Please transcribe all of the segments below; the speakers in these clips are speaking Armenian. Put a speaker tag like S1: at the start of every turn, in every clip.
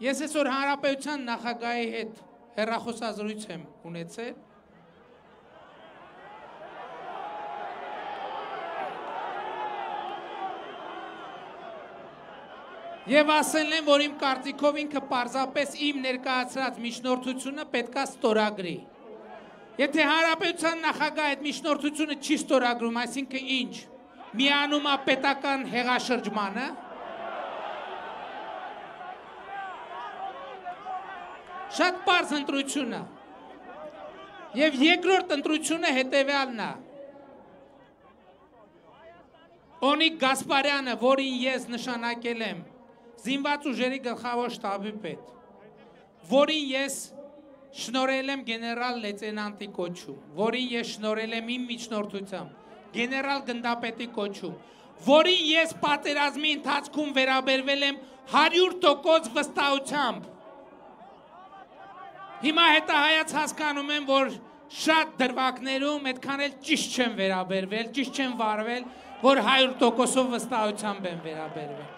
S1: Ես այսօր Հանրապետության նախագահի հետ հեռախոսազրույց եմ ունեցել։ Եվ ասել են, որ իմ կարծիքով ինքը պարզապես իմ ներկայացրած միջնորդությունը պետքա ստորագրի։ Եթե Հանրապետության նախագահը այդ միջնորդությունը չի ստորագրում, այսինքն ինչ, միանում է պետական հեղաշրջմանը, շատ պարզ ընտրությունը։ Եվ երկրորդ ընտրությունը հետևյալն է։ Օնիկ Գասպարյանը, որին ես նշանակել եմ զինված ուժերի գլխավոր շտաբի պետ, որին ես շնորհել եմ գեներալ լեյտենանտի կոչում, որին ես շնորհել եմ իմ միջնորդությամբ գեներալ գնդապետի կոչում, որին ես պատերազմի ընթացքում վերաբերվել եմ 100% վստահությամբ։ Հիմա հետահայաց հասկանում եմ, որ շատ դրվագներում այդքան էլ ճիշտ չեմ վերաբերվել, ճիշտ չեմ վարվել, որ 100%-ով վստահությամբ եմ վերաբերվել։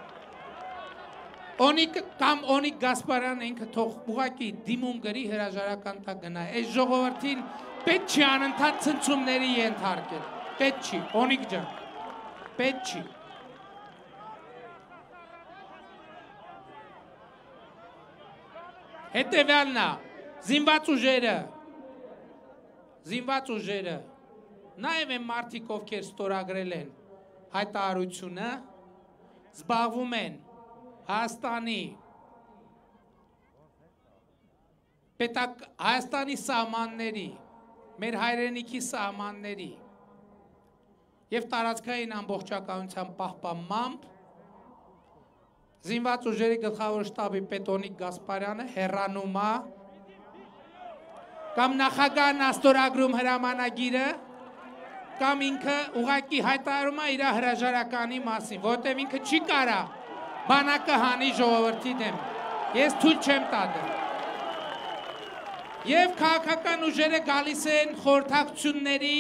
S1: Օնիկ Գասպարյանը ինքը թող ուղղակի դիմում գրի հրաժարական տակ գնա։ Այս ժողովրդին պետք չի անընդհատ ցնցումների ենթարկել։ Պետք չի, Օնիկ ջան։ Պետք չի։ Հետևյալն է, զինված ուժերը, նաև են մարդիկ, ովքեր ստորագրել են հայտարարությունը, զբաղվում են Հայաստանի սահմանների, մեր հայրենիքի սահմանների և տարածքային ամբողջականության պահպանմամբ զինված ուժերի գլխավոր շտաբի պետ Օնիկ Գասպարյանը հեռանում է կամ նախագահն է ստորագրում հրամանագիրը կամ ինքը ուղղակի հայտարարում է իր հրաժարականի մասին, որովհետև ինքը չի կարա բանակը հանի ժողովրդի դեմ։ Ես թույլ չեմ տա դա։ Եվ քաղաքական ուժերը գալիս են խորհրդակցությունների,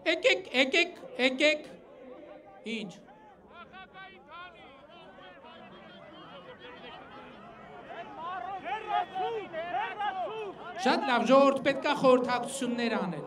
S1: եկեք, ինչ։ Շատ լավ, ժողովուրդ պետք է խորհրդակցություններ անել։